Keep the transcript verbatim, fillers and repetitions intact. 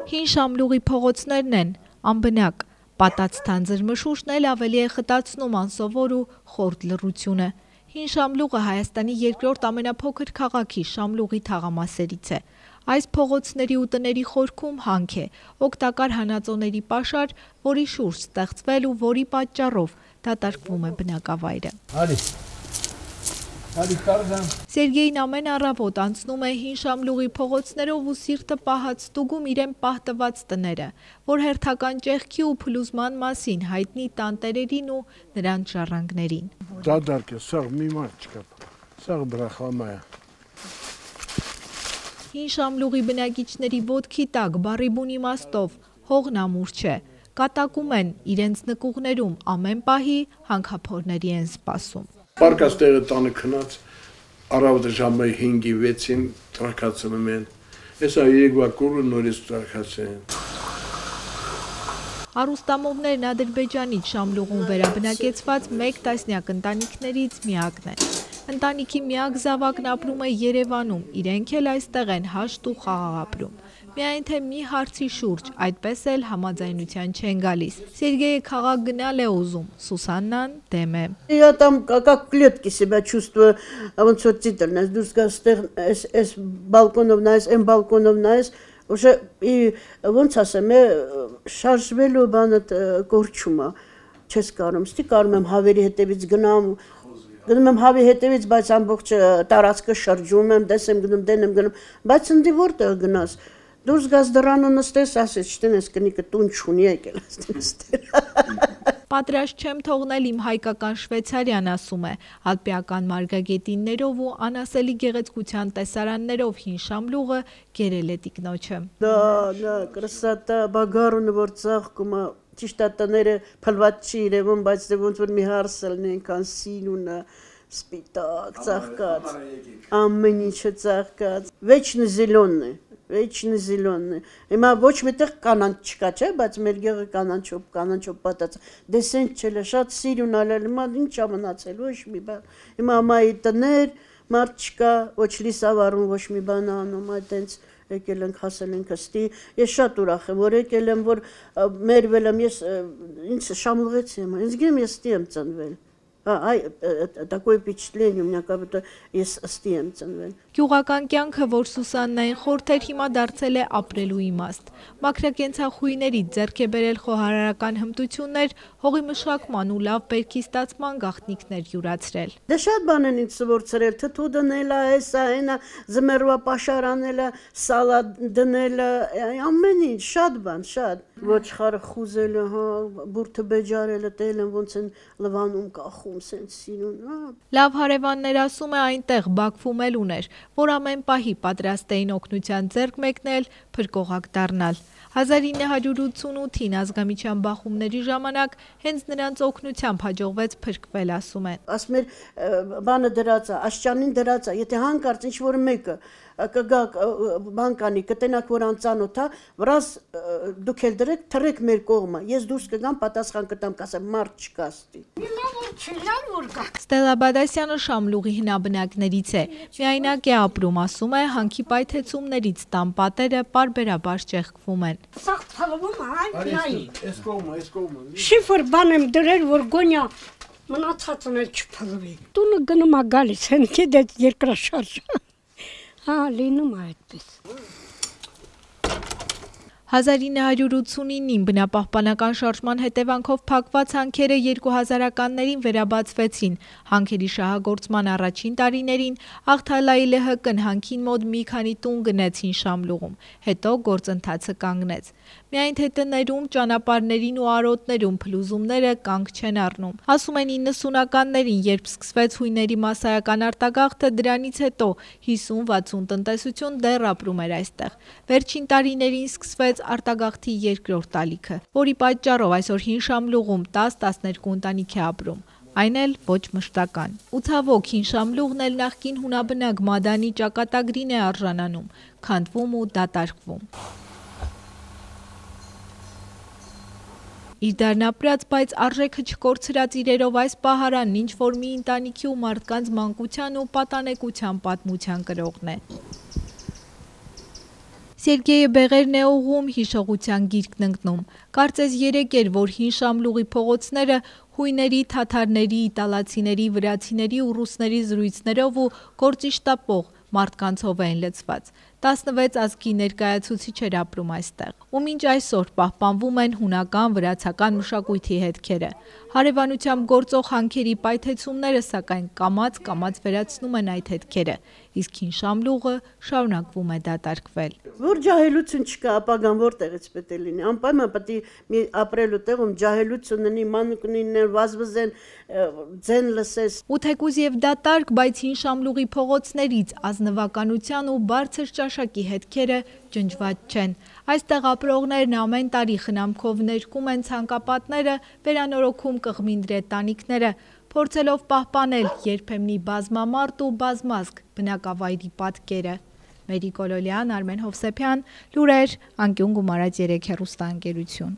Հին Շամլուղի փողոցներն են անբնակ, պատած թանձր մշուշն էլ ավելի է խտացնում անսովոր ու խորդ լռությունը։ Հին Շամլուղը Հայաստանի երկրորդ ամենափոքր քաղաքի Շամլուղի թաղամասերից է։ Այս փողոցների ու տների խորքում հանք է, օգտակար հանածոների պաշար, որի շուրջ ստեղծվել ու որի պատճառով դատարկվում է բնակավայրը։ Սերգեյն ամեն առավոտ անցնում է Հին Շամլուղի փողոցներով ու սիրտը պահած ստուգում իրեն պահտված տները, որ հերթական ճեղքի ու փլուզման մասին հայտնի տանտերերին ու նրանց ժառանգներին։ Դադարք է, սաղ մի մարդ չկա, սաղ բրախամա է։ Հին Շամլուղի բնակիչների ոտքի տակ բառի բուն իմաստով հողն ամուր չէ, կատակում են իրենց նկուղներում ամեն պահի հանքափորների են սպասում։ Պարկած տեղը տանը քնած, առավոտը ժամը հինգի վեցին տրակացնում են, հեսա երեկվա կուրը նորից տրակացեն։ Արուստամովներն Ադրբեջանից Շամլուղում վերաբնակեցված մեկ տասնյակ ընտանիքներից միակն են։ Ընտանիքի միակ զավակն ապրում է Երևանում, իրենք էլ այստեղ են հաշտ ու խաղաղ ապրում։ Միայն թե մի հարցի շուրջ, այդպես էլ համաձայնության չեն գալիս։ Սերգեյը քաղաք գնալ է ուզում, Սուսաննան դեմ է։ Я там как клетки себя чувствую, ոնց որ ծիտր նայես, դուրս գաս ստեղ այս այս բալկոնով նայես, այն բալկոնով նայես, уже и ոնց ասեմ, շարժվելու բանը կորչում է, չես կարում, ստի կարում եմ հավերի հետևից գնամ, գնում եմ հավի հետևից, բայց ամբողջ տարածքը շրջում եմ, դեսեմ գնում, դեն եմ գնում, բայց ընդի որտեղ գնաս, դուրս գաս դռանը նստես, ասես, չտենես կնիկը տուն չունի եկել ասեն ստեր։ Պատրաստ չեմ թողնել իմ հայկական Շվեյցարիան, ասում է, ալպիական մարգագետիններով ու անասելի գեղեցկության տեսարաններով Հին Շամլուղը գերել է տիկնոջը։ Դա, դա, կրսատա, բագարունը որ ծաղկում է, ճիշտ է տները փլված չի իրևում, բայց դե ոնց որ մի հարսելն ենքան սինունը, սպիտակ, ծաղկած, ամեն ինչը ծաղկած, վեչնը զիլոնն է, վեչնը զիլոնն է, հիմա ոչ միտեղ կանանչ չկա, չէ, բայց մեր գեղը կանանչով, կանանչով պատած, դեսենտ չել է, շատ սիրուն ալել, հիմա ինչ ա մնացել, ոչ մի բան, հիմա ամայի տներ, մարդ չկա, ոչ լիսավարում, ոչ մի բան անում, այդենց եկել ենք, հասել ենք ստի, ես շատ ուրախ եմ, որ եկել եմ, որ մերվել եմ, ես ինձ շամլուղեցի եմ, ինձ գեմ ես ստի եմ ծնվել, այ, такое впечатление, у меня как будто ես ստի եմ ծնվել։ Գյուղական կյանքը, որ Սուսաննային խորթ էր, հիմա դարձել է ապրելու իմաստ։ Մաքրակենցաղույներից ձեռք է բերել խոհարարական հմտություններ, հողի մշակման ու լավ բերքի ստացման գաղտնիքներ յուրացրել։ Դե շատ բան են ինձ սովորցրել, թթու դնելը, հեսա, հենա, զմերվա պաշար անելը, սալատ դնելը, ամեն ինչ, շատ բան, շատ։ Ոչխարը խուզելը, հա, բուրդը բեջարելը, տելն ոնց են լվանում, կախում, սենց սիրուն։ Լավ հարևաններ, ասում է, այնտեղ Բաքվում էլ ուներ, որ ամեն պահի պատրաստ էին օգնության ձեռք մեկնել, փրկողակ դառնալ։ հազար ինը հարյուր ութսունութին ազգամիջյան բախումների ժամանակ հենց նրանց օգնությամբ հաջողվեց փրկվել, ասում են։ Ասում էր բանը դրած է, աշճանին դրած է, եթե հանկարծ ինչ որ մեկը կգա բանկանի կտենակ որ անծանոթ է, վրաս դուք էլ դրեք, թռեք մեր կողմը, ես դուրս կգամ պատասխան կտամ, կասեմ մարդ չկա ստի։ Ստելա Բադասյանը Շամլուղի հնաբնակներից է, միայնակ է ապրում, ասում է, հանքի պայթեցումներից տան պատերը պարբերաբար ճեղքվում են։ Սաղ թալվում է, շիֆր բան եմ դրել, որ գոնյա մնացածն էլ չփլվի։ Տունը գնում է գալիս, հենքի դետ երկրաշարժ։ Հա, լինում է այդպես։ հազար ինը հարյուր ութսունինին բնապահպանական շարժման հետևանքով փակված հանքերը երկու հազարականներին վերաբացվեցին։ Հանքերի շահագործման առաջին տարիներին Աղթալայի Լ Հ Կ-ն հանքին մոտ մի քանի տուն գնեց Հին Շամլուղում, հետո գործընթացը կանգնեց։ Միայն թե տներում, ճանապարհներին ու արոտներում փլուզումները կանգ չեն առնում։ Ասում են իննսունականներին, երբ սկսվեց հույների մասսայական արտագաղթը, դրանից հետո հիսուն-վաթսուն տնտեսություն դեռ ապրում էր այստեղ։ Վերջին տարիներին սկսվեց արտագաղթի երկրորդ ալիքը, որի պատճառով այսօր Հին Շամլուղում տաս-տասներկու ընտանիք է ապրում, այն էլ ոչ մշտական։ Ու ցավոք Հին Շամլուղն էլ նախկին հունաբնակ Մադանի ճակատագրին է արժանանում, քանդվում ու դատարկվում։ Իր դառնապրած, բայց արժեքը չկորցրած իրերով այս պահարանն ինչ որ մի ընտանիքի ու մարդկանց մանկության ու պատանեկության պատմության կրողն է։ Սերգեյը բեղերն է ուղում, հիշողության գիրկն ընկնում։ Կարծես երեկ էր, որ հին Շամլուղի փողոցները հույների, թաթարների, իտալացիների, վրացիների ու ռուսների զրույցներով ու գործիշտապող մարդկանցով էին լցված։ տասնվեց ազգի ներկայացուցիչ էր ապրում այստեղ։ Ու մինչ այսօր պահպանվում են հունական, վրացական մշակույթի հետքերը։ Հարևանությամբ գործող հանքերի պայթեցումները, սակայն կամաց-կամաց վերացնում են այդ հետքերը, իսկ հին Շամլուղը շարունակվում է դատարկվել։ Որ ջահելություն չկա, ապագան որտեղից պետք է լինի։ Անպայման պետք է մի ապրելու տեղում ջահելություն լինի, մանուկնին վազվզեն, ձեն լսես։ Ու թեկուզ եւ դատարկ, բայց հին Շամլուղի փողոցներից ազնվականության ու բարձր ճաշակի հետքերը ջնջված չեն։ Այստեղ ապրողներն ամեն տարի խնամքով ներկում են ցանկապատները, վերանորոգում կղմինդրե տանիքները, փորձելով պահպանել երբեմնի բազմամարդ ու բազմազգ բնակավայրի պատկերը։ Մերի Կոլոլյան, Արմեն Հովսեփյան, լուրեր, անկյուն գումարած երեք հեռուստաընկերություն։